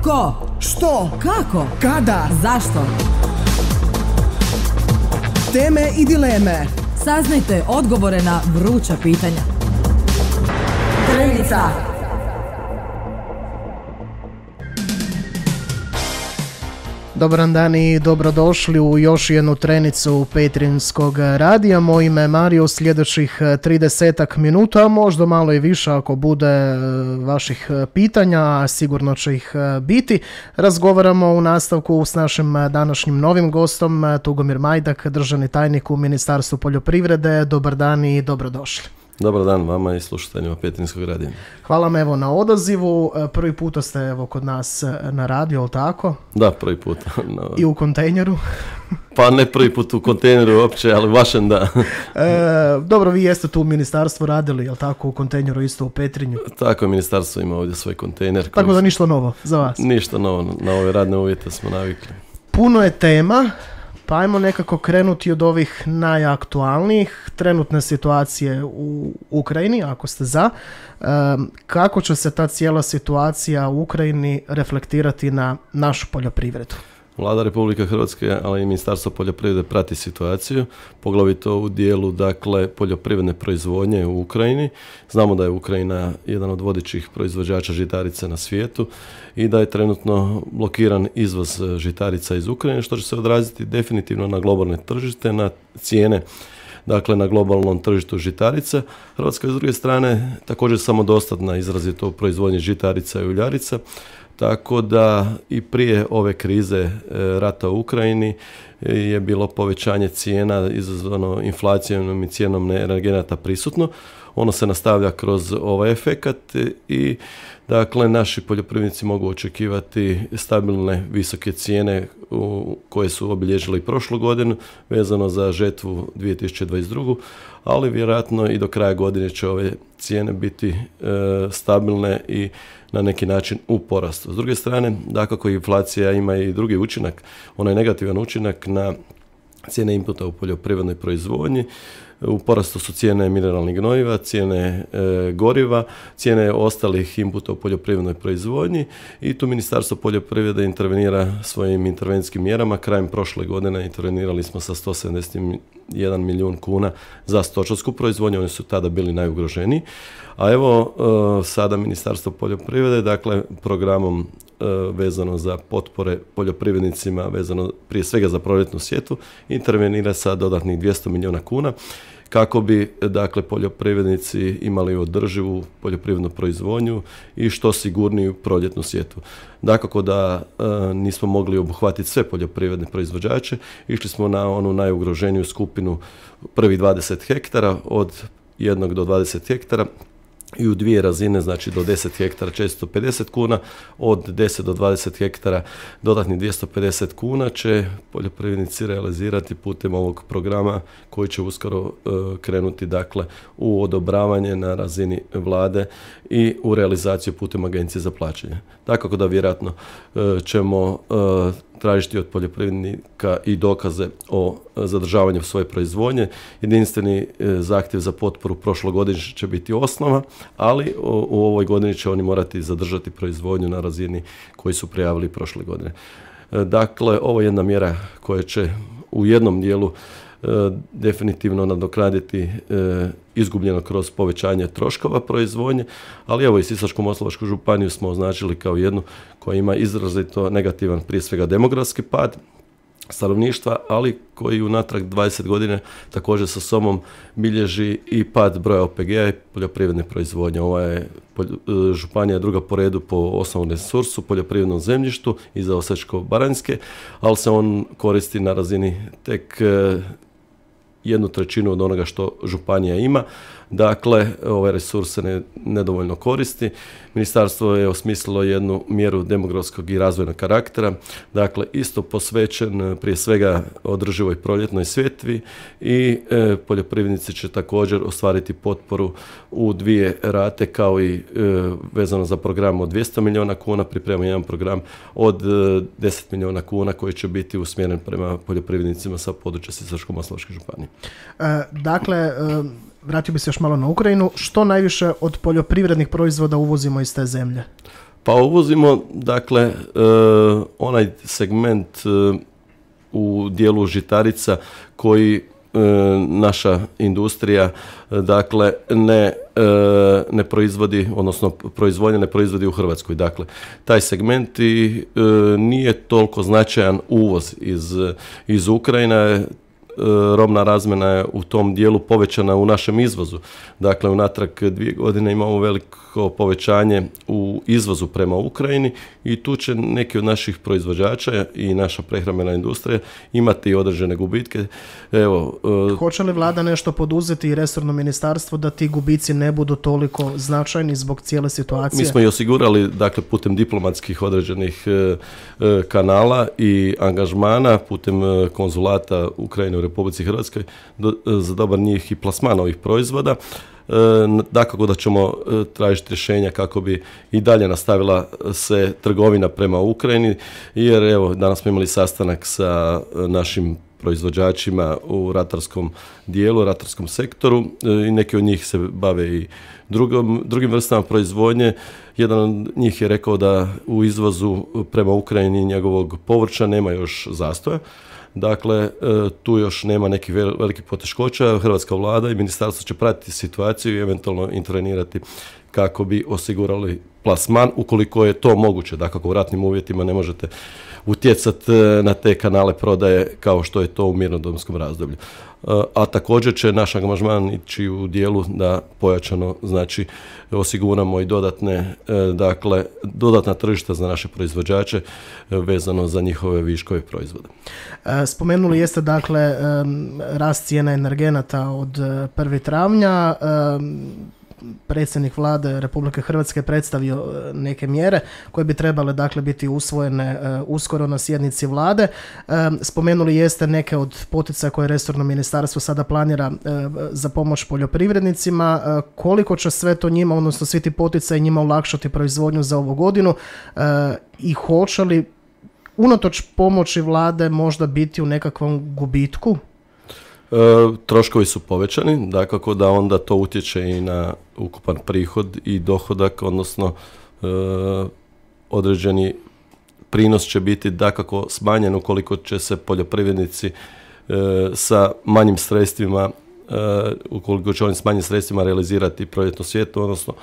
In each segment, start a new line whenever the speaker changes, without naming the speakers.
Ko?
Što?
Kako?
Kada?
Zašto?
Teme i dileme.
Saznajte odgovore na vruća pitanja. Trenica.
Dobar dan i dobrodošli u još jednu trenicu Petrinjskog radija. Moje ime je Mario, sljedećih 30 minuta, a možda malo i više ako bude vaših pitanja, a sigurno će ih biti. Razgovaramo u nastavku s našim današnjim novim gostom, Tugomir Majdak, državni tajnik u Ministarstvu poljoprivrede. Dobar dan i dobrodošli.
Dobar dan vama i slušateljima Petrinjskog radija.
Hvala vam na odazivu. Prvi puta ste kod nas na radiju, ali tako?
Da, prvi put.
I u kontejneru?
Pa ne prvi put u kontejneru uopće, ali vašem da.
Dobro, vi jeste tu u ministarstvu radili, jel tako, u kontejneru isto u Petrinju?
Tako je, ministarstvo ima ovdje svoj kontejner.
Tako da ništa novo za vas? Ništa
novo, na ove radne uvjete smo navikli.
Puno je tema. Pa ajmo nekako krenuti od ovih najaktualnijih, trenutne situacije u Ukrajini, ako ste za. Kako će se ta cijela situacija u Ukrajini reflektirati na našu poljoprivredu?
Vlada Republike Hrvatske, ali i Ministarstvo poljoprivrede prati situaciju, poglavito u dijelu poljoprivredne proizvodnje u Ukrajini. Znamo da je Ukrajina jedan od vodećih proizvođača žitarica na svijetu i da je trenutno blokiran izvoz žitarica iz Ukrajine, što će se odraziti definitivno na globalne tržište, na cijene, na globalnom tržištu žitarica. Hrvatska je s druge strane također samodostatna izrazito u proizvodnji žitarica i uljarica. Tako da i prije ove krize rata u Ukrajini je bilo povećanje cijena izazvano inflacijom i cijenom energenata prisutno. Ono se nastavlja kroz ovaj efekat i naši poljoprivrednici mogu očekivati stabilne visoke cijene koje su obilježile i prošlu godinu vezano za žetvu 2022. Ali vjerojatno i do kraja godine će ove cijene biti stabilne i na neki način u porastu. S druge strane, dakako inflacija ima i drugi učinak, onaj negativan učinak na cijene inputa u poljoprivrednoj proizvodnji. U porastu su cijene mineralnih gnojiva, cijene goriva, cijene ostalih inputa u poljoprivrednoj proizvodnji i tu Ministarstvo poljoprivrede intervenira svojim intervencijskim mjerama. Krajem prošle godine intervenirali smo sa 171 milijun kuna za stočarsku proizvodnju, oni su tada bili najugroženiji. A evo sada Ministarstvo poljoprivrede, programom vezano za potpore poljoprivrednicima, vezano prije svega za proljetnu sjetvu, intervenira sa dodatnih 200 milijuna kuna kako bi poljoprivrednici imali održivu poljoprivrednu proizvodnju i što sigurniju proljetnu sjetvu. Dakako da nismo mogli obuhvatiti sve poljoprivredne proizvođače, išli smo na onu najugroženiju skupinu prvih 20 hektara, od 1 do 20 hektara, i u dvije razine, znači do 10 hektara 450 kuna, od 10 do 20 hektara dodatnih 250 kuna će poljoprivrednici realizirati putem ovog programa koji će uskoro krenuti u odobravanje na razini vlade i u realizaciju putem agencije za plaćanje. Dakako da vjerojatno ćemo tražiti od poljoprivrednika i dokaze o zadržavanju svoje proizvodnje. Jedinstveni zahtjev za potporu prošlogodišnji će biti osnova, ali u ovoj godini će oni morati zadržati proizvodnju na razini koju su prijavili prošle godine. Dakle, ovo je jedna mjera koja će u jednom dijelu definitivno nadoknaditi izgubljeno kroz povećanje troškova proizvodnje, ali evo i Sisačko-moslavačku županiju smo označili kao jednu koja ima izrazito negativan, prije svega demografski pad stanovništva, ali koji unatrag 20 godina također sa sobom bilježi i pad broja OPG-a i poljoprivredne proizvodnje. Ova je županija druga po redu po osnovnom resursu, poljoprivrednom zemljištu iza Osječko-baranjske, ali se on koristi na razini tek 1/3 od onoga što županija ima. Dakle, ovaj resurs se nedovoljno koristi. Ministarstvo je osmislilo jednu mjeru demografskog i razvojnog karaktera, dakle isto posvećen prije svega održivoj proljetnoj sjetvi i poljoprivrednici će također ostvariti potporu u dvije rate kao i vezano za program od 200 milijuna kuna, pripremamo jedan program od 10 milijuna kuna koji će biti usmjeren prema poljoprivrednicima sa područja Sisačko-moslavačke županije.
Vratio bi se još malo na Ukrajinu. Što najviše od poljoprivrednih proizvoda uvozimo iz te zemlje?
Pa uvozimo, dakle, onaj segment u dijelu žitarica koji naša industrija dakle ne proizvodi, odnosno proizvodnja ne proizvodi u Hrvatskoj. Dakle, taj segment nije toliko značajan uvoz iz Ukrajine. Robna razmjena je u tom dijelu povećana u našem izvozu. Dakle, unatrag 2 godine imamo veliko povećanje u izvozu prema Ukrajini i tu će neki od naših proizvođača i naša prehrambena industrija imati određene gubitke. Evo,
hoće li vlada nešto poduzeti i resorno ministarstvo da ti gubici ne budu toliko značajni zbog cijele situacije?
Mi smo i osigurali, dakle, putem diplomatskih određenih kanala i angažmana, putem konzulata Ukrajine u Republici Hrvatskoj za dobar njih i plasman ovih proizvoda. Dakako da ćemo tražiti rješenja kako bi i dalje nastavila se trgovina prema Ukrajini, jer evo, danas smo imali sastanak sa našim proizvođačima u ratarskom dijelu, ratarskom sektoru i neki od njih se bave i drugim vrstama proizvodnje. Jedan od njih je rekao da u izvozu prema Ukrajini njegovog povrća nema još zastoja. Dakle, tu još nema nekih velikih poteškoća. Hrvatska vlada i ministarstvo će pratiti situaciju i eventualno intervenirati kako bi osigurali plasman, ukoliko je to moguće. Dakako, u ratnim uvjetima ne možete utjecati na te kanale prodaje kao što je to u mirnodopskom razdoblju. A također će naš angažman ići u dijelu da pojačano, znači, osiguramo i dodatna tržišta za naše proizvođače vezano za njihove viškove proizvoda.
Spomenuli jeste, dakle, rast cijena energenata od 1. travnja. Predsjednik vlade Republike Hrvatske predstavio neke mjere koje bi trebale, dakle, biti usvojene uskoro na sjednici vlade. Spomenuli jeste neke od poticaja koje resorno ministarstvo sada planira za pomoć poljoprivrednicima. Koliko će sve to njima, odnosno svi ti poticaji njima olakšati proizvodnju za ovu godinu i hoće li unatoč pomoći vlade možda biti u nekakvom gubitku?
Troškovi su povećani, dakako da onda to utječe i na ukupan prihod i dohodak, odnosno određeni prinos će biti dakako smanjen ukoliko će se poljoprivrednici sa manjim sredstvima, ukoliko će oni s manjim sredstvima realizirati proljetnu sjetvu, odnosno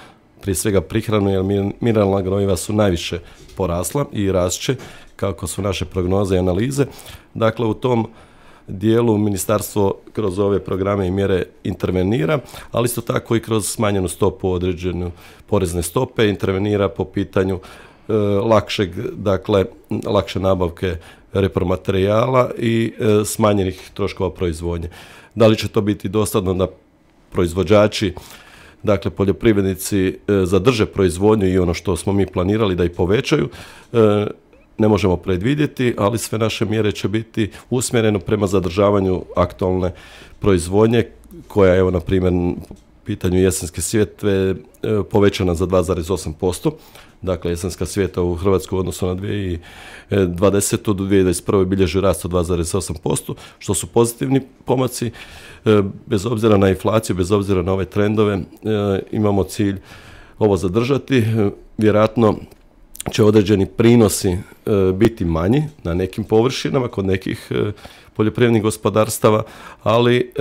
prije svega prihranu, jer mineralna gnojiva su najviše porasla i rašće, kako su naše prognoze i analize. Dakle, u tom dijelu ministarstvo kroz ove programe i mjere intervenira, ali isto tako i kroz smanjenu stopu određenu porezne stope intervenira po pitanju lakše nabavke repromaterijala i smanjenih troškova proizvodnje. Da li će to biti dostatno da proizvođači, dakle poljoprivrednici, zadrže proizvodnju i ono što smo mi planirali da i povećaju, ne možemo predvidjeti, ali sve naše mjere će biti usmjerene prema zadržavanju aktualne proizvodnje, koja je, evo, na primjer, po pitanju jesenske sjetve povećana za 2,8%. Dakle, jesenska sjetva u Hrvatskoj u odnosu na 2020. do 2021. bilježi rast od 2,8%, što su pozitivni pomaci. Bez obzira na inflaciju, bez obzira na ove trendove, imamo cilj ovo zadržati. Vjerojatno će određeni prinosi biti manji na nekim površinama, kod nekih poljoprivrednih gospodarstava, ali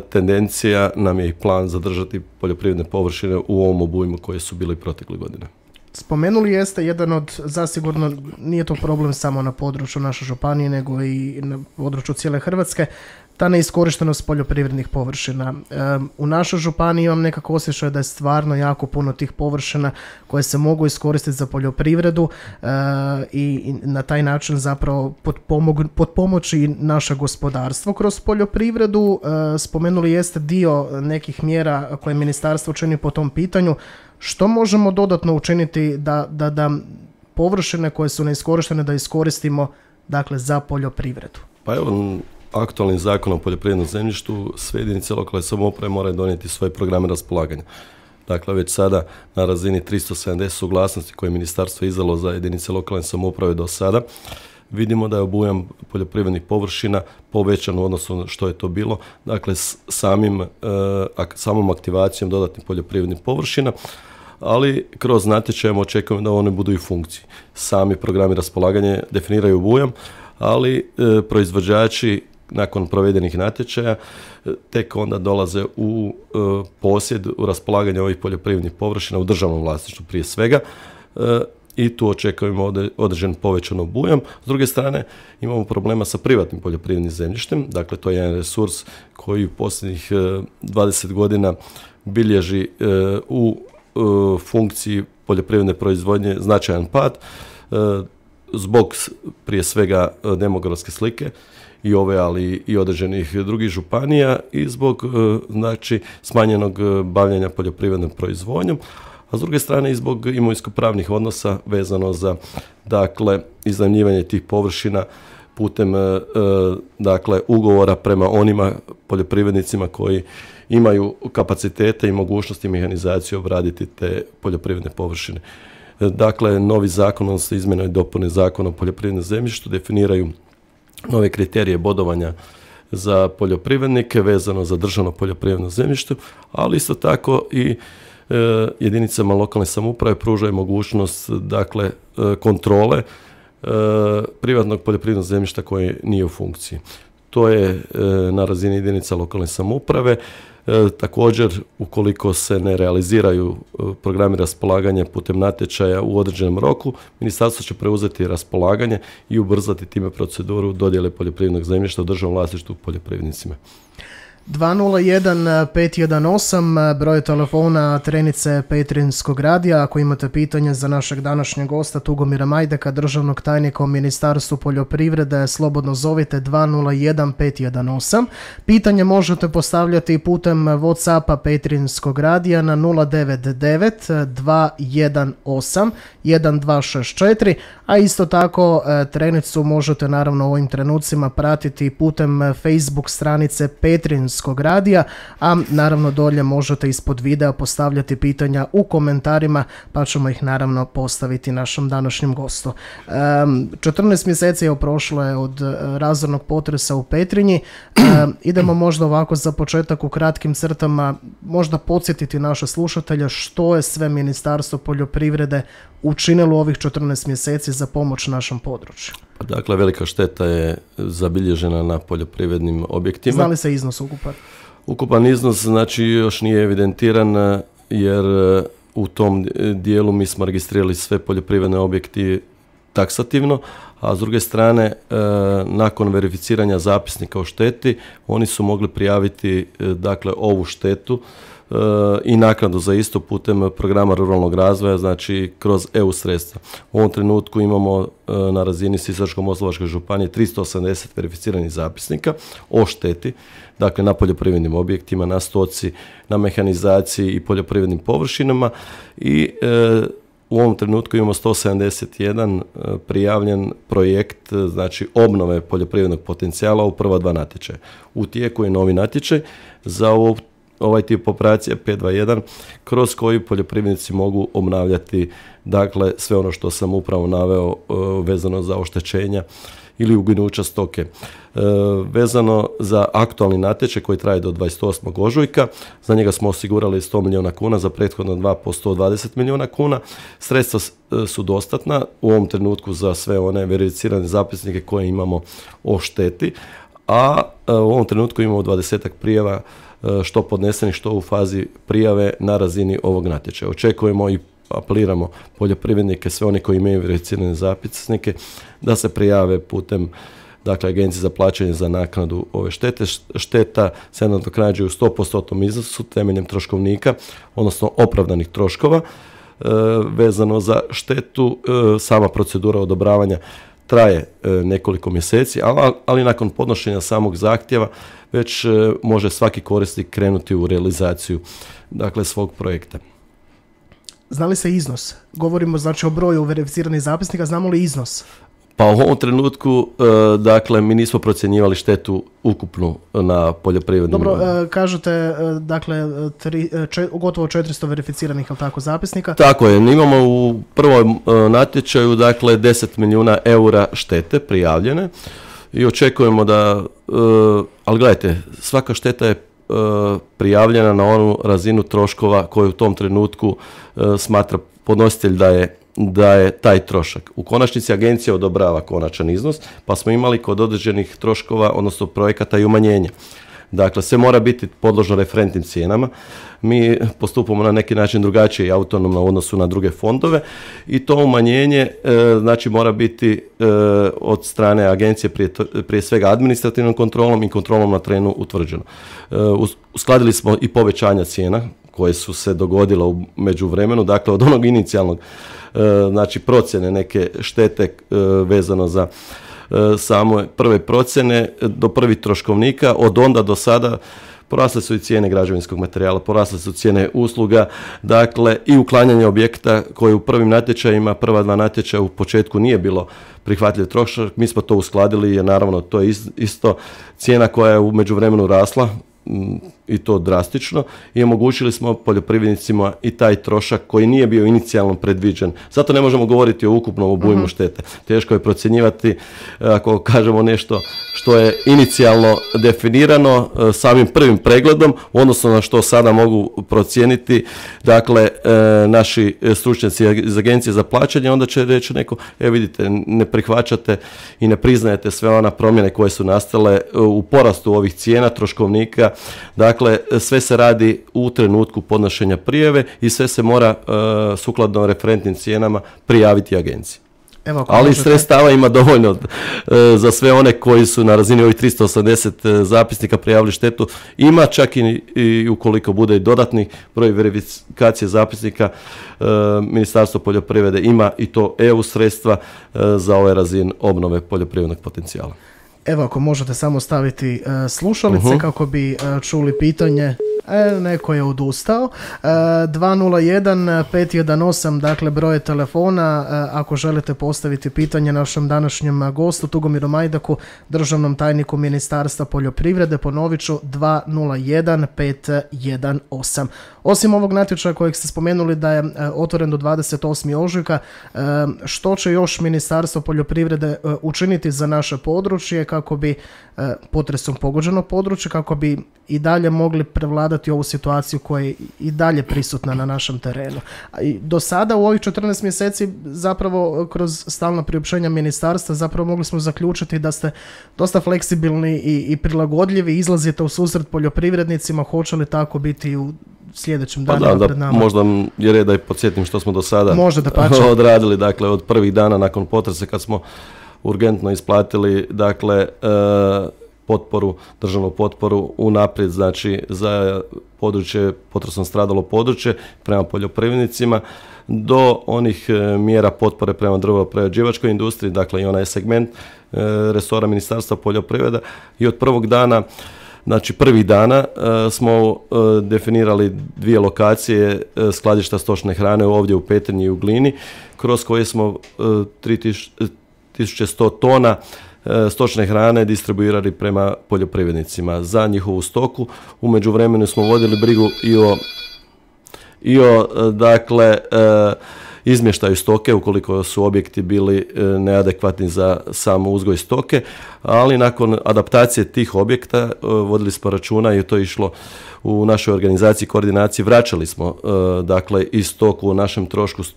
tendencija nam je i plan zadržati poljoprivredne površine u ovom obujmu koje su bile protekle godine.
Spomenuli jeste jedan od, zasigurno nije to problem samo na području naše županije, nego i na području cijele Hrvatske, ta neiskorištenost poljoprivrednih površina. U našoj županiji imam nekako osjećaj da je stvarno jako puno tih površina koje se mogu iskoristiti za poljoprivredu i na taj način zapravo potpomoći naše gospodarstvo kroz poljoprivredu. Spomenuli jeste dio nekih mjera koje ministarstvo čini po tom pitanju. Što možemo dodatno učiniti da površine koje su neiskorištene da iskoristimo, dakle, za poljoprivredu? Pa
evo, aktualnim zakonom o poljoprivrednom zemljištu sve jedinice lokalne samouprave moraju donijeti svoje programe raspolaganja. Dakle, već sada na razini 370 suglasnosti koje je ministarstvo izdalo za jedinice lokalne samouprave do sada, vidimo da je obujam poljoprivrednih površina povećan u odnosu na što je to bilo. Dakle, samom aktivacijom dodatnih poljoprivrednih površina, ali kroz natječajem očekujemo da one budu i u funkciji. Sami programi raspolaganja definiraju obujam, ali proizvođači nakon provedenih natječaja tek onda dolaze u posjed, u raspolaganje ovih poljoprivrednih površina u državnom vlasništvu prije svega, i tu očekujemo određen povećan obujam. S druge strane, imamo problema sa privatnim poljoprivrednim zemljištem, dakle to je jedan resurs koji u posljednjih 20 godina bilježi u funkciji poljoprivredne proizvodnje značajan pad, zbog prije svega demografske slike i ove, ali i određenih drugih županija, i zbog znači smanjenog bavljenja poljoprivrednom proizvodnjom, a s druge strane i zbog imovinsko-pravnih odnosa vezano za dakle iznajmljivanje tih površina putem dakle ugovora prema onima poljoprivrednicima koji imaju kapacitete i mogućnosti mehanizacije obraditi te poljoprivredne površine. Dakle, novi zakon, odnosno izmjene i dopune Zakona o poljoprivrednom zemljištu definiraju nove kriterije bodovanja za poljoprivrednike vezano za državno poljoprivredno zemljište, ali isto tako i jedinicama lokalne samouprave pružaju mogućnost dakle kontrole privatnog poljoprivrednog zemljišta koje nije u funkciji. To je na razini jedinica lokalne samouprave. Također, ukoliko se ne realiziraju programi raspolaganja putem natječaja u određenom roku, ministarstvo će preuzeti raspolaganje i ubrzati time proceduru dodjele poljoprivrednog zemljišta u državnom vlasništvu poljoprivrednicima.
201-518, broj telefona Trenice Petrinjskog radija. Ako imate pitanje za našeg današnjeg gosta Tugomira Majdeka, državnog tajnika u Ministarstvu poljoprivrede, slobodno zovite 201-518. Pitanje možete postavljati putem WhatsAppa Petrinjskog radija na 099-218-1264, a isto tako Trenicu možete naravno u ovim trenucima pratiti putem Facebook stranice Petrinjskog radija, a naravno dolje možete ispod videa postavljati pitanja u komentarima, pa ćemo ih naravno postaviti našem današnjem gostu. 14 mjeseci je prošlo od razornog potresa u Petrinji. Idemo možda ovako za početak u kratkim crtama možda podsjetiti naše slušatelje što je sve Ministarstvo poljoprivrede učinilo u ovih 14 mjeseci za pomoć našem području.
Dakle, velika šteta je zabilježena na poljoprivrednim objektima.
Zna li se iznos ukupan?
Ukupan iznos znači još nije evidentiran, jer u tom dijelu mi smo registrirali sve poljoprivredne objekti taksativno, a s druge strane nakon verificiranja zapisnika o šteti oni su mogli prijaviti dakle ovu štetu i naknadu za isto putem programa ruralnog razvoja, znači kroz EU sredstva. U ovom trenutku imamo na razini Sisačko-moslavačke županije 380 verificiranih zapisnika o šteti, dakle na poljoprivrednim objektima, na stoci, na mehanizaciji i poljoprivrednim površinama, i u ovom trenutku imamo 171 prijavljen projekt, znači obnove poljoprivrednog potencijala u prva 2 natječaja. U tijeku je novi natječaj za ovaj tip operacije 521, kroz koji poljoprivrednici mogu obnavljati dakle sve ono što sam upravo naveo vezano za oštećenja ili uginuća stoke. Vezano za aktualni natječaj koji traje do 28. ožujka, za njega smo osigurali 100 milijuna kuna, za prethodno 2 po 120 milijuna kuna. Sredstva su dostatna u ovom trenutku za sve one verificirane zapisnike koje imamo o šteti, a u ovom trenutku imamo 20 prijava, što podnesenih, što u fazi prijave na razini ovog natječaja. Očekujemo i apeliramo poljoprivrednike, sve oni koji imaju verificirane zapisnike, da se prijave putem dakle Agencije za plaćanje za naknadu ove štete. Šteta se nadoknađuje u 100% iznosu temeljem troškovnika, odnosno opravdanih troškova. Vezano za štetu, sama procedura odobravanja traje nekoliko mjeseci, ali nakon podnošenja samog zahtjeva već može svaki korisnik krenuti u realizaciju dakle svog projekta.
Zna li se iznos? Govorimo znači o broju verificiranih zapisnika, znamo li iznos?
Pa u ovom trenutku, dakle, mi nismo procjenjivali štetu ukupnu na poljoprivrednim.
Dobro, kažete, dakle, gotovo 400 verificiranih, ali tako, zapisnika?
Tako je, imamo u prvom natječaju, dakle, 10 milijuna eura štete prijavljene i očekujemo da, ali gledajte, svaka šteta je prijavljena na onu razinu troškova koju u tom trenutku smatra podnositelj da je taj trošak. U konačnici agencija odobrava konačan iznos, pa smo imali kod određenih troškova, odnosno projekata i umanjenja. Dakle, sve mora biti podložno referentnim cijenama. Mi postupamo na neki način drugačije i autonomno u odnosu na druge fondove i to umanjenje znači mora biti od strane agencije prije svega administrativnom kontrolom i kontrolom na terenu utvrđeno. Uskladili smo i povećanja cijena koje su se dogodile u međuvremenu, dakle od onog inicijalnog znači procjene neke štete vezano za samo prve procjene do prvih troškovnika, od onda do sada porasle su i cijene građevinskog materijala, porasle su cijene usluga, dakle i uklanjanje objekta koje u prvim natječajima, prva 2 natječaja u početku nije bilo prihvatljiv trošak, mi smo to uskladili jer naravno to je isto cijena koja je u međuvremenu rasla i to drastično i omogućili smo poljoprivrednicima i taj trošak koji nije bio inicijalno predviđen. Zato ne možemo govoriti o ukupnom obujmu štete. Teško je procjenjivati ako kažemo nešto što je inicijalno definirano samim prvim pregledom, odnosno na što sada mogu procijeniti dakle naši stručnjaci iz Agencije za plaćanje, onda će reći neko, vidite, ne prihvaćate i ne priznajete sve ona promjene koje su nastale u porastu ovih cijena troškovnika. Dakle, sve se radi u trenutku podnošenja prijave i sve se mora sukladno referentnim cijenama prijaviti agenciji. Ali sredstava ima dovoljno za sve one koji su na razini ovih 380 zapisnika prijavili štetu. Ima čak i ukoliko bude i dodatni broj verifikacije zapisnika, Ministarstvo poljoprivrede ima i to EU sredstva za ovaj razin obnove poljoprivrednog potencijala.
Evo, ako možete samo staviti slušalice kako bi čuli pitanje. Neko je odustao. 201-518, dakle broj telefona, ako želite postaviti pitanje našem današnjem gostu Tugomiru Majdaku, državnom tajniku Ministarstva poljoprivrede, ponovit ću 201-518. Osim ovog natječaja kojeg ste spomenuli da je otvoren do 28. ožujka, što će još Ministarstvo poljoprivrede učiniti za naše područje kako bi potresom pogođeno područje, kako bi i dalje mogli prevladati ovu situaciju koja je i dalje prisutna na našem terenu. I do sada u ovih 14 mjeseci zapravo kroz stalna priopćenja ministarstva zapravo mogli smo zaključiti da ste dosta fleksibilni i prilagodljivi, izlazite u susret poljoprivrednicima. Hoće li tako biti u sljedećim danima pred nama?
Možda je red da i podsjetim što smo do sada odradili, dakle od prvih dana nakon potresa kad smo urgentno isplatili dakle državnu potporu unaprijed, znači za područje, potresom stradalo područje prema poljoprivrednicima, do onih mjera potpore prema drvoprerađivačkoj industriji, dakle i onaj segment resora Ministarstva poljoprivrede. I od prvog dana, znači prvih dana smo definirali 2 lokacije skladišta stočne hrane ovdje u Petrinji i u Glini, kroz koje smo 3100 tona stočne hrane distribuirali prema poljoprivrednicima za njihovu stoku. U međuvremenu smo vodili brigu i o dakle izmještaju stoke ukoliko su objekti bili neadekvatni za samo uzgoj stoke, ali nakon adaptacije tih objekta vodili smo računa i to je išlo u našoj organizaciji koordinaciji, vraćali smo dakle i stoku u našem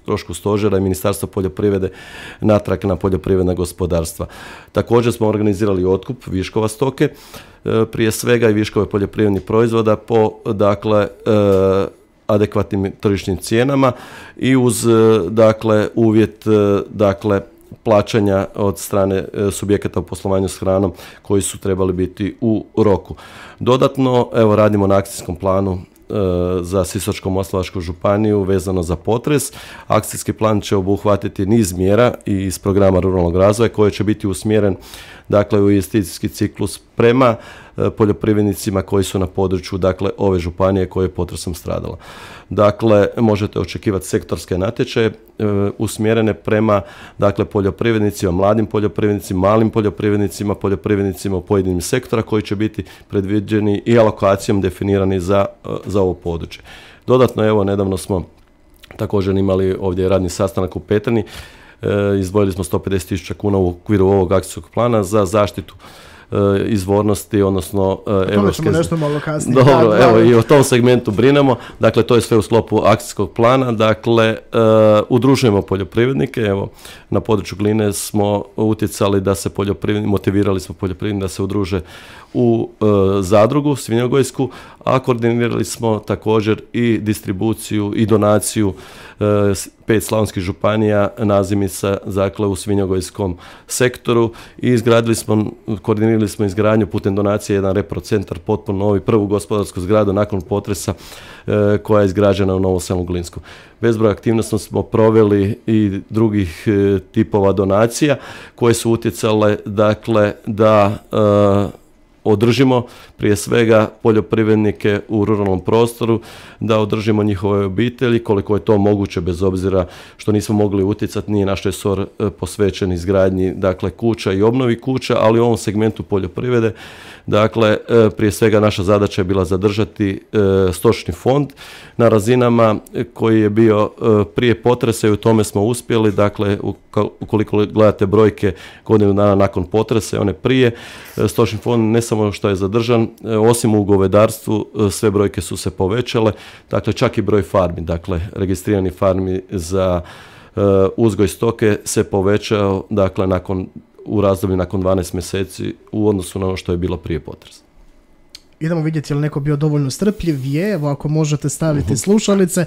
trošku stožera i Ministarstva poljoprivrede natrag na poljoprivredna gospodarstva. Također smo organizirali otkup viškova stoke, prije svega i viškove poljoprivrednih proizvoda po dakle adekvatnim tržišnim cijenama i uz dakle uvjet dakle plaćanja od strane subjekata u poslovanju s hranom koji su trebali biti u roku. Dodatno, evo radimo na akcijskom planu za Sisačko-moslavačku županiju vezano za potres. Akcijski plan će obuhvatiti niz mjera iz programa ruralnog razvoja koji će biti usmjeren dakle u investicijski ciklus prema poljoprivrednicima koji su na području dakle ove županije koje je potresom stradala. Dakle, možete očekivati sektorske natječaje usmjerene prema dakle poljoprivrednicima, mladim poljoprivrednicima, malim poljoprivrednicima, poljoprivrednicima u pojedinim sektora koji će biti predviđeni i alokacijom definirani za ovo područje. Dodatno, evo, nedavno smo također imali ovdje radni sastanak u Petrinji, izdvojili smo 150.000 kuna u okviru ovog akcijskog plana za zaštitu izvornosti, odnosno
evropske. Nešto malo kasnije.
Dobro, evo i o tom segmentu brinemo. Dakle, to je sve u sklopu akcijskog plana. Dakle, udružujemo poljoprivrednike. Evo, na području Gline smo utjecali da se motivirali smo poljoprivrednike da se udruže u zadrugu svinjogojsku, a koordinirali smo također i distribuciju i donaciju 5 slavonskih županija nazimica, dakle u svinjogojskom sektoru, i koordinirali smo izgradnju putem donacije jedan reprocentar, potpuno novi, prvu gospodarsku zgradu nakon potresa koja je izgrađena u Novom Selu Glinsku. Bezbroj aktivnosti smo proveli i drugih tipova donacija koje su utjecale, dakle, da održimo prije svega poljoprivrednike u ruralnom prostoru, da održimo njihove obitelji koliko je to moguće, bez obzira što nismo mogli utjecati, nije naš resor posvećen izgradnji, dakle, kuća i obnovi kuća, ali u ovom segmentu poljoprivrede, dakle, prije svega naša zadaća je bila zadržati stočni fond na razinama koji je bio prije potresa i u tome smo uspjeli. Dakle, ukoliko gledate brojke godinu dana nakon potresa i one prije, stočni fond ne samo što je zadržan, osim u govedarstvu sve brojke su se povećale, dakle čak i broj farmi, dakle registrirani farmi za uzgoj stoke se povećao, dakle u razdoblju nakon 12 mjeseci u odnosu na ono što je bilo prije potresa.
Idemo vidjeti je li neko bio dovoljno strpljiv. Evo, ako možete staviti slušalice.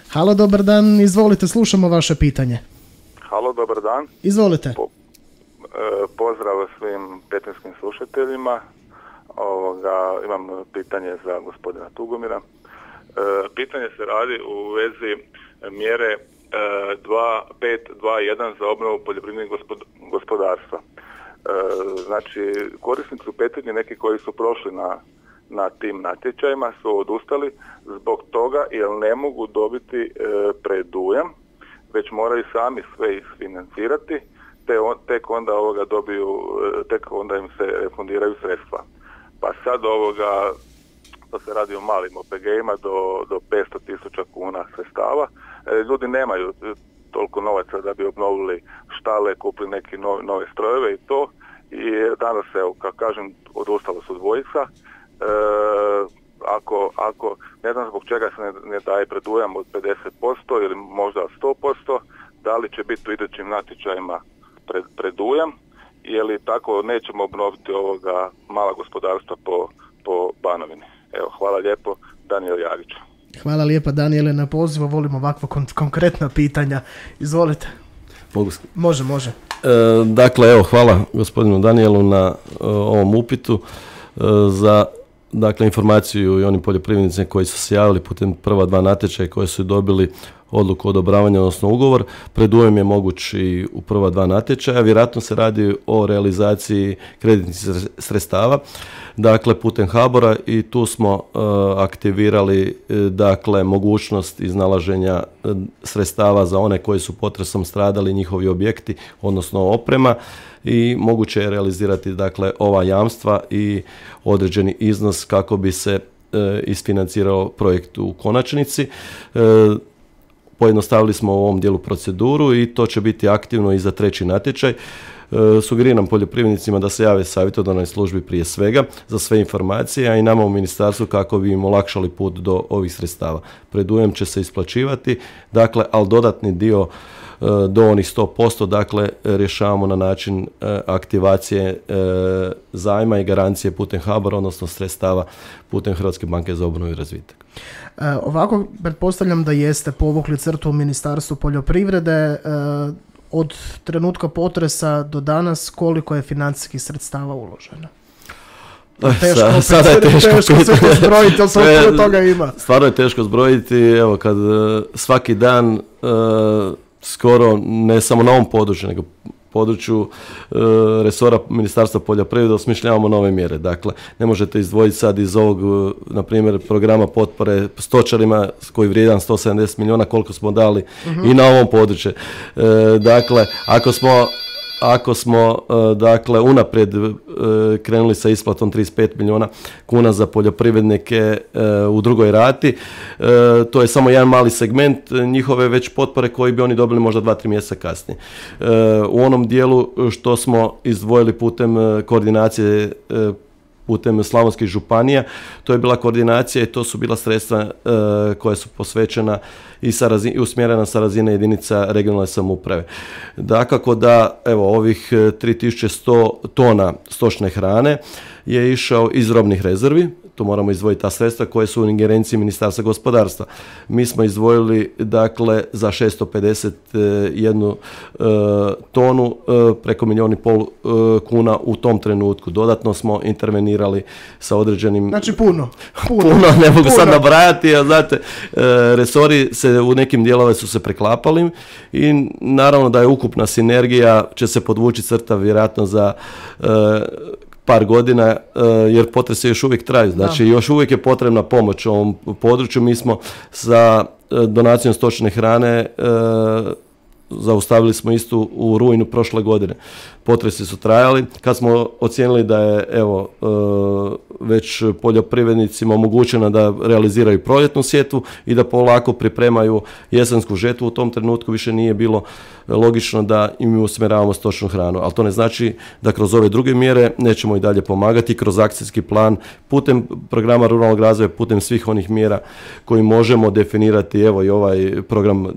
Halo, dobar dan, izvolite, slušamo vaše pitanje.
Halo, dobar dan.
Izvolite.
Pozdrav svim petinskim slušateljima. Imam pitanje za gospodina Tugomira. Pitanje se radi u vezi mjere 2521 za obnovu poljoprivrednih gospodarstva. Znači, korisnici u Petrinji, neki koji su prošli na tim natječajima, su odustali zbog toga jer ne mogu dobiti predujam, već moraju sami sve isfinancirati, tek onda im se refundiraju sredstva. Pa sad to se radi o malim OPG-ima do 500.000 kuna sredstava. Ljudi nemaju toliko novaca da bi obnovili štale, kupili neki nove strojeve i to. I danas se, kako kažem, odustalo su dvojica. Ako ne znam zbog čega se ne daje predujam od 50% ili možda 100%, da li će biti u idućim natječajima predujam, ili tako nećemo obnoviti mala gospodarstva po Banovini. Evo, hvala lijepo, Danijel Jagić.
Hvala lijepa, Danijele, na pozivu, volimo ovakva konkretna pitanja. Izvolite. Može.
Dakle, evo, hvala gospodinu Danijelu na ovom upitu. Za informaciju i onim poljoprivrednicima koji su se javili putem prva 2 natječaja koji su dobili odluku o odobravanju, odnosno ugovor, predujam je moguć i u prva 2 natječaja. Vjerojatno se radi o realizaciji kreditnih sredstava, dakle putem HBOR-a, i tu smo aktivirali mogućnost iznalaženja sredstava za one koji su potresom stradali, njihovi objekti, odnosno oprema, i moguće je realizirati ova jamstva i određeni iznos kako bi se isfinancirao projekt u konačnici. Pojednostavili smo u ovom dijelu proceduru i to će biti aktivno i za 3. natječaj. Sugeriram poljoprivrednicima da se jave savjetodavnoj službi prije svega za sve informacije, a i nama u ministarstvu kako bi im olakšali put do ovih sredstava. Predujam će se isplaćivati, ali dodatni dio do onih 100%, rješavamo na način aktivacije zajma i garancije putem HBOR-a, odnosno sredstava putem Hrvatske banke za obnovu i razvitak.
Ovako, pretpostavljam da jeste povukli crtu u Ministarstvu poljoprivrede. Od trenutka potresa do danas koliko je financijskih sredstava uloženo?
Sada je teško
sve to zbrojiti, ali sve toga ima.
Stvarno je teško zbrojiti, evo kad svaki dan skoro, ne samo na ovom području, nego području resora Ministarstva poljoprivrede osmišljavamo nove mjere. Dakle, ne možete izdvojiti sad iz ovog, na primjer, programa potpore stočarima koji vrijedan 170 milijuna koliko smo dali i na ovom području. Dakle, ako smo dakle unaprijed krenuli sa isplatom 35 milijuna kuna za poljoprivrednike u drugoj rati, to je samo jedan mali segment njihove već potpore koji bi oni dobili možda 2-3 mjeseca kasnije. U onom dijelu što smo izdvojili putem koordinacije putem slavonskih županija, to je bila koordinacija i to su bila sredstva koja su posvećena i usmjerena sa razine jedinica regionalne samouprave. Dakako da evo ovih 3100 tona stočne hrane je išao iz robnih rezervi, tu moramo izdvojiti ta sredstva koje su u ingerenciji Ministarstva gospodarstva. Mi smo izdvojili dakle za 651 tonu preko 1,5 milijuna kuna u tom trenutku. Dodatno smo intervenirali sa određenim...
Znači puno,
ne mogu sad nabrajati, a znate, resori se u nekim dijelove su se preklapali i naravno da je ukupna sinergija, će se podvući crta vjerojatno za par godina, jer potresi još uvijek traju. Znači, još uvijek je potrebna pomoć u ovom području. Mi smo sa donacijom stočne hrane zaustavili smo istu u rujnu prošle godine. Potresi su trajali. Kad smo ocijenili da je već poljoprivrednicima omogućeno da realiziraju proljetnu sjetvu i da polako pripremaju jesensku žetvu, u tom trenutku više nije bilo logično da im usmjeravamo stočnu hranu. Ali to ne znači da kroz ove druge mjere nećemo i dalje pomagati, kroz akcijski plan, putem programa ruralnog razvoja, putem svih onih mjera koji možemo definirati, evo i ovaj program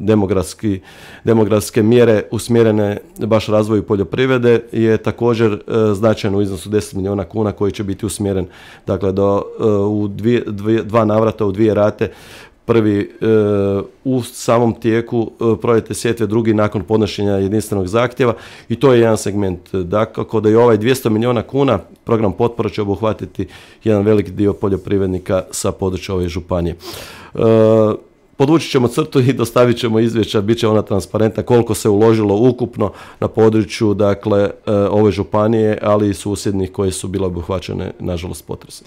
demografske mjere usmjerene baš razvoju poljoprivrede je također značajan u iznosu 10 milijuna kuna koji će biti usmjeren u dva navrata, u 2 rate. Prvi u samom tijeku proljetne sjetve, drugi nakon podnošenja jedinstvenog zahtjeva i to je jedan segment. Dakako da i ovaj 200 milijuna kuna program potpora će obuhvatiti jedan veliki dio poljoprivrednika sa područja ove županije. Podvući ćemo crtu i dostavit ćemo izvješća, bit će ona transparentna koliko se uložilo ukupno na području ove županije, ali i susjednih koje su bile obuhvaćene, nažalost, potresom.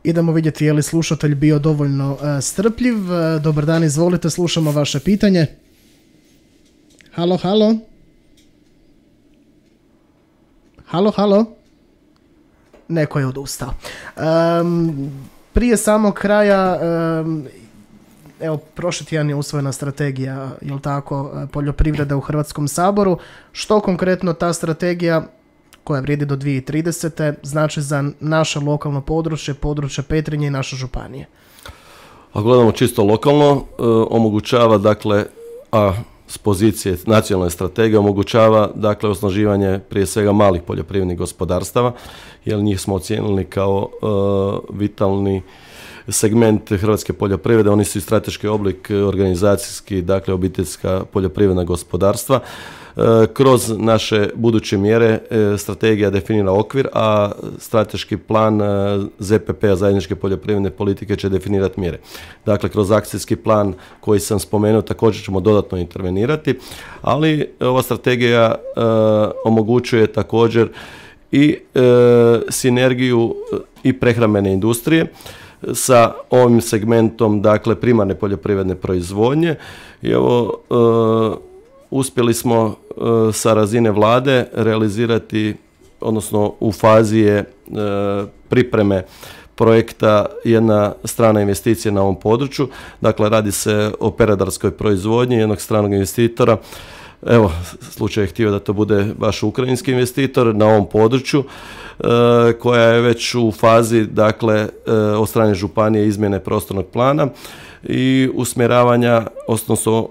Idemo vidjeti je li slušatelj bio dovoljno strpljiv. Dobar dan, izvolite, slušamo vaše pitanje. Halo, halo. Halo, halo. Neko je odustao. Prije samog kraja, evo, prošli tjedan je usvojena strategija, jel tako, poljoprivrede u Hrvatskom saboru. Što konkretno ta strategija, koja vrijedi do 2030. znači za naše lokalno područje Petrinje i naše županije?
Ako gledamo čisto lokalno, omogućava, dakle, s pozicije nacionalne strategije omogućava, dakle, osnaživanje prije svega malih poljoprivrednih gospodarstava, jer njih smo ocijenili kao vitalni segment hrvatske poljoprivrede. Oni su i strateški oblik organizacijski, dakle, obiteljska poljoprivredna gospodarstva. Kroz naše buduće mjere strategija definira okvir, a strateški plan ZPP-a, zajedničke poljoprivredne politike, će definirati mjere. Dakle, kroz akcijski plan koji sam spomenuo također ćemo dodatno intervenirati, ali ova strategija omogućuje također i sinergiju i prehrambene industrije sa ovim segmentom, dakle, primarne poljoprivredne proizvodnje. I evo, uspjeli smo sa razine vlade realizirati, odnosno u fazi je pripreme projekta jedna strana investicija na ovom području. Dakle, radi se o peradarskoj proizvodnji jednog stranog investitora. Evo, slučaj je htio da to bude baš ukrajinski investitor na ovom području, koja je već u fazi, dakle, od strane županije izmjene prostornog plana i usmjeravanja, odnosno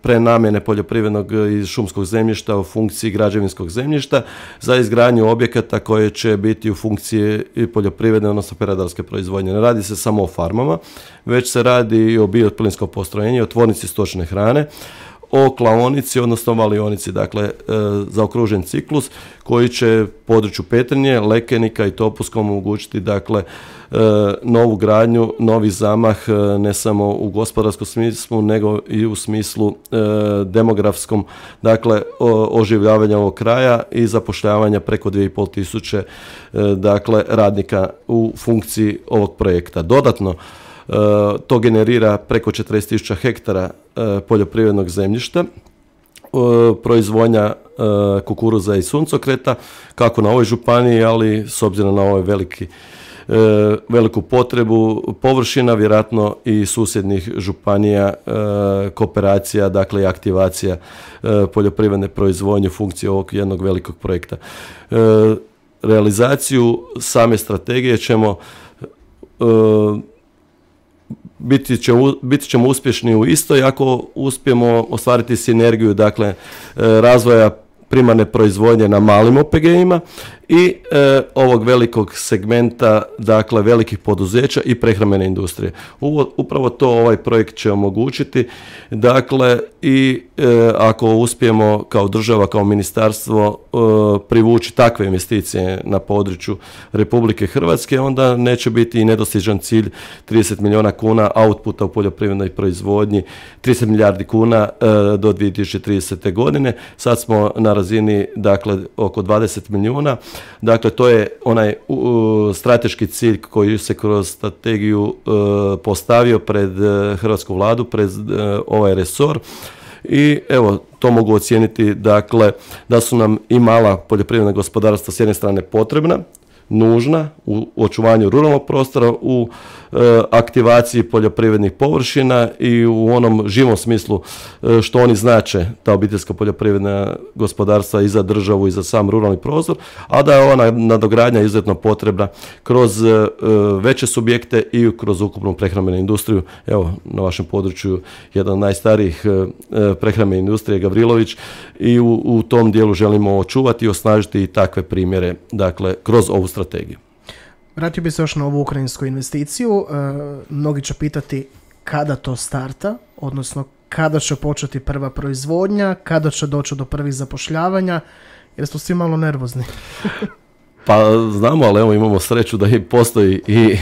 prenamjene poljoprivrednog i šumskog zemljišta u funkciji građevinskog zemljišta za izgradnju objekata koje će biti u funkciji poljoprivredne, odnosno peradarske proizvodnje. Ne radi se samo o farmama, već se radi i o bioplinskom postrojenju, o tvornici stočne hrane, o klaonici, odnosno valionici, dakle, zaokružen ciklus koji će području Petrinje, Lekenika i Topuskom omogućiti, dakle, novu gradnju, novi zamah, ne samo u gospodarskom smislu, nego i u smislu demografskom, dakle, oživljavanja ovog kraja i zapošljavanja preko 2500 dakle, radnika u funkciji ovog projekta. Dodatno, to generira preko 40.000 hektara poljoprivrednog zemljišta proizvodnja kukuruza i suncokreta, kako na ovoj županiji, ali s obzirom na ovaj veliku potrebu površina, vjerojatno i susjednih županija, kooperacija, dakle i aktivacija poljoprivredne proizvodnje u funkciji ovog jednog velikog projekta. Realizaciju same strategije ćemo biti ćemo uspješni u istoj ako uspijemo ostvariti sinergiju, dakle razvoja primarne proizvodnje na malim OPG-ima i ovog velikog segmenta, dakle velikih poduzeća i prehrambene industrije. Upravo to ovaj projekt će omogućiti, dakle i ako uspijemo kao država, kao ministarstvo privući takve investicije na području Republike Hrvatske, onda neće biti i nedostižan cilj 30 milijuna kuna outputa u poljoprivrednoj proizvodnji, 30 milijardi kuna do 2030. godine. Sad smo na razini, dakle, oko 20 milijuna. Dakle, to je onaj strateški cilj koji se kroz strategiju postavio pred hrvatsku vladu, pred ovaj resor. I evo, to mogu ocijeniti, dakle, da su nam i mala poljoprivredna gospodarstva s jedne strane potrebna, nužna u očuvanju ruralnog prostora, u aktivaciji poljoprivrednih površina i u onom živom smislu što oni znače, ta obiteljska poljoprivredna gospodarstva i za državu i za sam ruralni prostor, a da je ona nadogradnja izuzetno potrebna kroz veće subjekte i kroz ukupnu prehrambenu industriju. Evo, na vašem području jedan od najstarijih prehrambene industrije Gavrilović i u tom dijelu želimo očuvati i osnažiti i takve primjere, dakle, kroz ovu strategiju.
Vratio bi se još na ovu ukrajinsku investiciju. Mnogi će pitati kada to starta, odnosno kada će početi prva proizvodnja, kada će doći do prvih zapošljavanja, jer smo svi malo nervozni.
Pa znamo, ali evo imamo sreću da i postoji i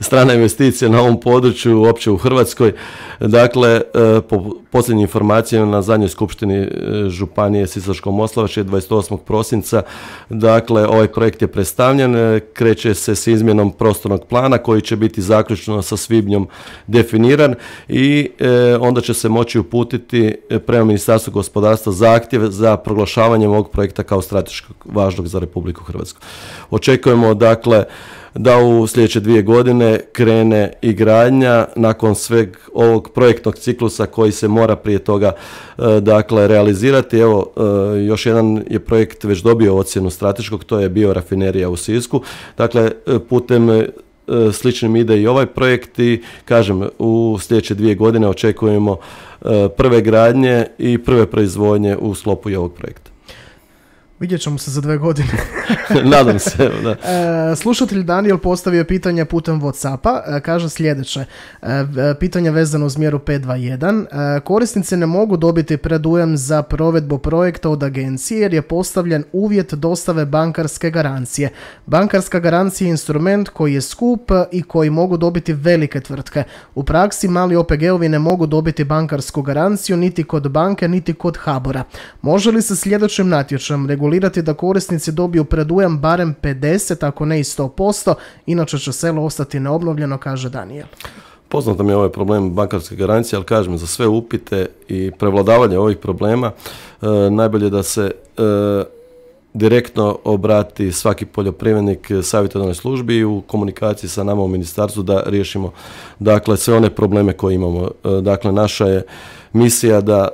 strana investicija na ovom području, uopće u Hrvatskoj. Dakle, po posljednjim informacijama na zadnjoj skupštini županije Sisačko-moslavačke 28. prosinca, dakle, ovaj projekt je predstavljen, kreće se s izmjenom prostornog plana koji će biti zaključno sa svibnjom definiran i onda će se moći uputiti prema Ministarstvu gospodarstva zahtjev za proglašavanje ovog projekta kao strateškog važnog za Republiku Hrvatsku. Očekujemo, dakle, da u sljedeće 2 godine krene i gradnja nakon sveg ovog projektnog ciklusa koji se mora prije toga, dakle, realizirati. Evo, još jedan je projekt već dobio ocjenu strateškog, to je biorafinerija u Sisku. Dakle, putem sličnim ide i ovaj projekt i, kažem, u sljedeće 2 godine očekujemo prve gradnje i prve proizvodnje u sklopu i ovog projekta.
Vidjet ćemo se za 2 godine.
Nadam se, da.
Slušatelj Daniel postavio pitanje putem WhatsAppa. Kaže sljedeće. Pitanje vezano uz mjeru 521. Korisnici ne mogu dobiti predujam za provedbu projekta od agencije jer je postavljen uvjet dostave bankarske garancije. Bankarska garancija je instrument koji je skup i koji mogu dobiti velike tvrtke. U praksi mali OPG-ovi ne mogu dobiti bankarsku garanciju niti kod banke, niti kod HBOR-a. Može li se sljedećim natječajem regulirati da korisnici dobiju predujam barem 50, ako ne i 100%, inače će selo ostati neobnovljeno, kaže Daniel.
Poznato mi je ovaj problem bankarske garancije, ali kažem, za sve upite i prevladavanje ovih problema najbolje da se direktno obrati svaki poljoprivrednik savjetodavnoj službi i u komunikaciji sa nama u ministarstvu da riješimo, dakle, sve one probleme koje imamo. Dakle, naša je misija da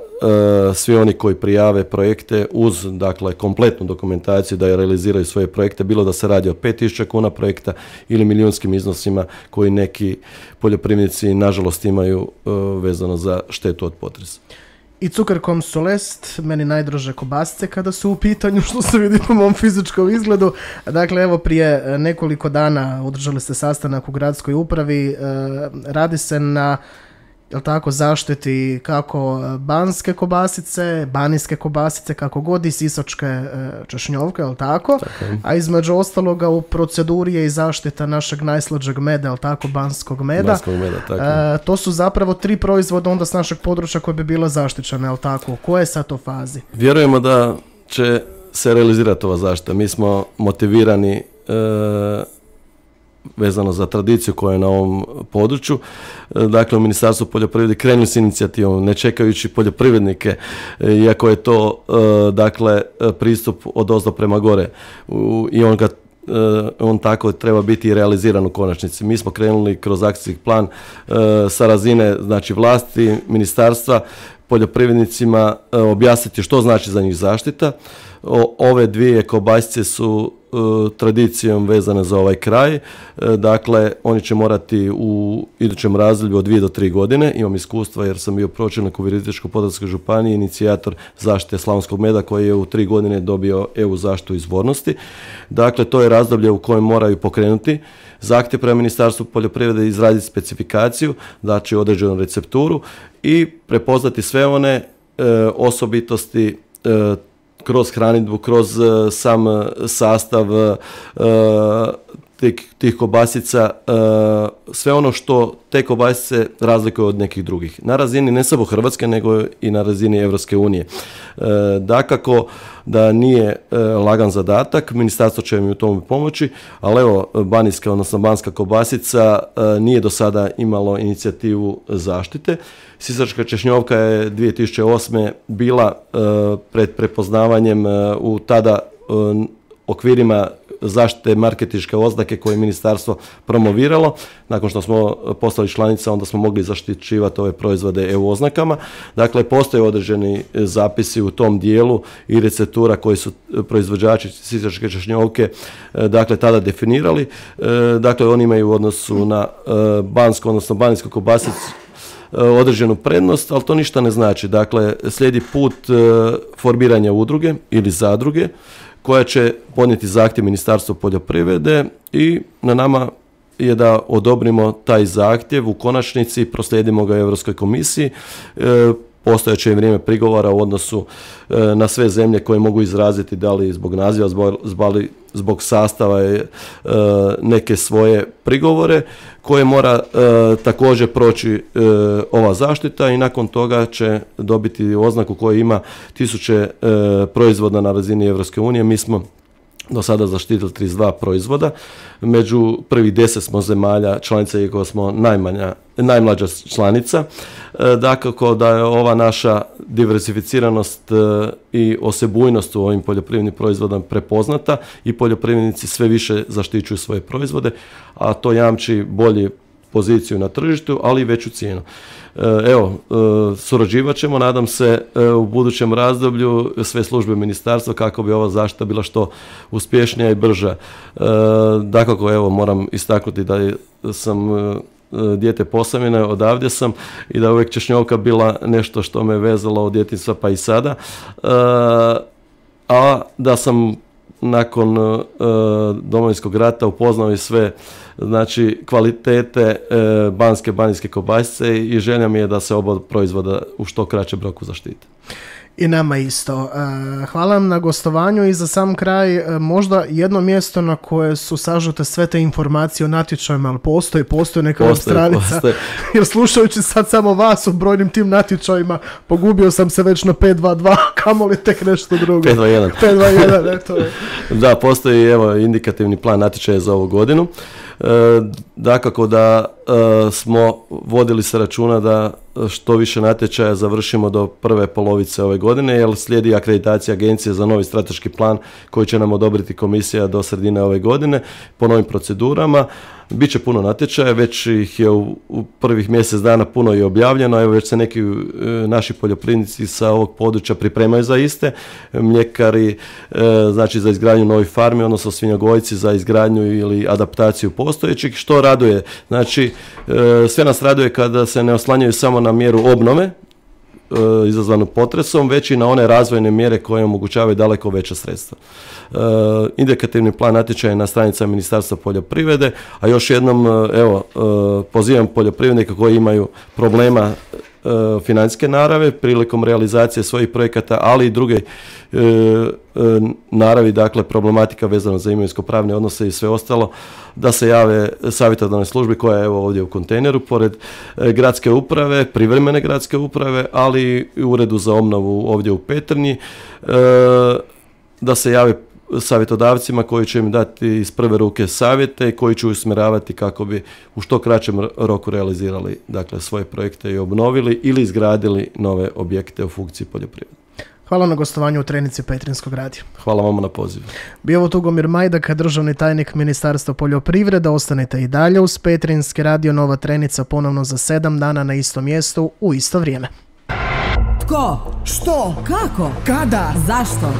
svi oni koji prijave projekte uz, dakle, kompletnu dokumentaciju da realiziraju svoje projekte, bilo da se radi o 5.000 kuna projekta ili milijunskim iznosima koji neki poljoprivrednici nažalost imaju vezano za štetu od potresa.
I Cukerkom Solest, meni najdraže kobasice kada su u pitanju, što se vidi po mom fizičkom izgledu. Dakle, evo, prije nekoliko dana održali ste sastanak u gradskoj upravi, radi se na, jel tako, zaštiti kako banske kobasice, banijske kobasice, kako god, i sisačke češnjovke, jel tako? A između ostaloga u proceduri je i zaštita našeg najslađeg meda, jel tako, banskog meda.
Banskog meda, tako.
To su zapravo 3 proizvoda onda s našeg područja koje bi bila zaštićena, jel tako? U kojoj je sad to fazi?
Vjerujemo da će se realizirati ova zaštita. Mi smo motivirani vezano za tradiciju koja je na ovom području. Dakle, u Ministarstvu poljoprivrede krenuli s inicijativom, ne čekajući poljoprivrednike, iako je to dakle pristup odozdo prema gore i on tako treba biti i realiziran u konačnici. Mi smo krenuli kroz akcijski plan sa razine znači vlasti, ministarstva, poljoprivrednicima objasniti što znači za njih zaštita. Ove dvije kobasice su tradicijom vezane za ovaj kraj. Dakle, oni će morati u idućem razdoblju od 2 do 3 godine. Imam iskustva jer sam bio pročelnik u Virovitičko-podravskoj županiji, inicijator zaštite slavonskog meda koji je u 3 godine dobio EU zaštitu izvornosti. Dakle, to je razdoblje u kojem moraju pokrenuti zahtjev prema Ministarstvu poljoprivrede, izraditi specifikaciju, znači određenu recepturu i prepoznati sve one osobitosti kroz hranidbu, kroz sam sastav tih kobasica, sve ono što te kobasice razlikuju od nekih drugih. Na razini ne samo Hrvatske, nego i na razini Europske unije. Dakako da nije lagan zadatak, ministarstvo će mi u tome pomoći, ali evo, banijska, odnosno banska kobasica nije do sada imalo inicijativu zaštite. Sisačka češnjovka je 2008. bila pred prepoznavanjem u tada okvirima zaštite marketinške oznake koje je ministarstvo promoviralo. Nakon što smo postali članica, onda smo mogli zaštićivati ove proizvode EU oznakama. Dakle, postoje određeni zapisi u tom dijelu i receptura koji su proizvođači sisačke češnjovke dakle tada definirali. Dakle, oni imaju u odnosu na bansku, odnosno banijsku kobasicu određenu prednost, ali to ništa ne znači. Dakle, slijedi put formiranja udruge ili zadruge koja će podnijeti zahtjev Ministarstvu poljoprivrede i na nama je da odobrimo taj zahtjev, u konačnici proslijedimo ga Europskoj komisiji. Postojeće je vrijeme prigovora u odnosu na sve zemlje koje mogu izraziti da li zbog naziva, zbog sastava neke svoje prigovore koje mora također proći ova zaštita i nakon toga će dobiti oznaku koja ima 1000 proizvoda na razini Europske unije. Mi smo do sada zaštitili 32 proizvoda. Među prvih 10 smo zemalja članica, iako smo najmlađa članica. Dakako da je ova naša diversificiranost i osebujnost u ovim poljoprivrednim proizvodima prepoznata i poljoprivrednici sve više zaštićuju svoje proizvode, a to jamči bolju poziciju na tržištu, ali i veću cijenu. Evo, surađivat ćemo, nadam se, u budućem razdoblju sve službe ministarstva kako bi ova zaštita bila što uspješnija i brža. Dakako, evo, moram istaknuti da sam dijete Posavine, odavdje sam i da je uvijek češnjovka bila nešto što me vezalo od djetinjstva pa i sada. A da sam nakon Domovinskog rata upoznao i sve znači kvalitete banijske kobasice i želja mi je da se oba proizvoda u što kraćem roku zaštite.
I nama isto. Hvala vam na gostovanju i za sam kraj možda jedno mjesto na koje su sažete sve te informacije o natječajima, ali postoji neka web stranica. Jer slušajući sad samo vas o brojnim tim natječajima, pogubio sam se već na 522, kamoli tek nešto drugo. 521, eto je.
Da, postoji evo indikativni plan natječaja za ovu godinu. Dakako da smo vodili se računa da što više natječaja završimo do prve polovice ove godine, jer slijedi akreditacija agencije za novi strateški plan koji će nam odobriti komisija do sredine ove godine po novim procedurama. Biće puno natječaja, već ih je u prvih mjesec dana puno i objavljeno, evo već se neki naši poljoprivrednici sa ovog područja pripremaju za iste, mljekari znači za izgradnju novih farmi, odnosno svinjogojci za izgradnju ili adaptaciju postojećih, što raduje. Znači, sve nas raduje kada se ne oslanjaju samo na mjeru obnove izazvanu potresom, već i na one razvojne mjere koje omogućavaju daleko veća sredstva. Indikativni plan natječaja je na stranicama Ministarstva poljoprivrede, a još jednom evo, pozivam poljoprivrednike koji imaju problema financijske narave prilikom realizacije svojih projekata, ali i druge naravi, dakle problematika vezana za imovinsko-pravne odnose i sve ostalo, da se jave savjetodavnoj službi koja je evo ovdje u kontejneru, pored gradske uprave, privremene gradske uprave, ali i uredu za obnovu ovdje u Petrinji, da se jave savjetodavcima koji će im dati iz prve ruke savjete i koji će usmjeravati kako bi u što kraćem roku realizirali dakle, svoje projekte i obnovili ili izgradili nove objekte u funkciji poljoprivrede.
Hvala na gostovanju u Trenici Petrinjskog radija.
Hvala vama na pozivu.
Bio ovo Tugomir Majdak, državni tajnik Ministarstva poljoprivrede. Ostanite i dalje uz Petrinjski radio. Nova Trenica ponovno za 7 dana na istom mjestu u isto vrijeme.
Tko?
Što?
Kako?
Kada?
Zašto?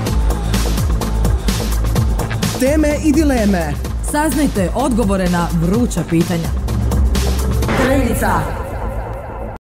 Teme i dileme.
Saznajte odgovore na vruća pitanja. Trenica.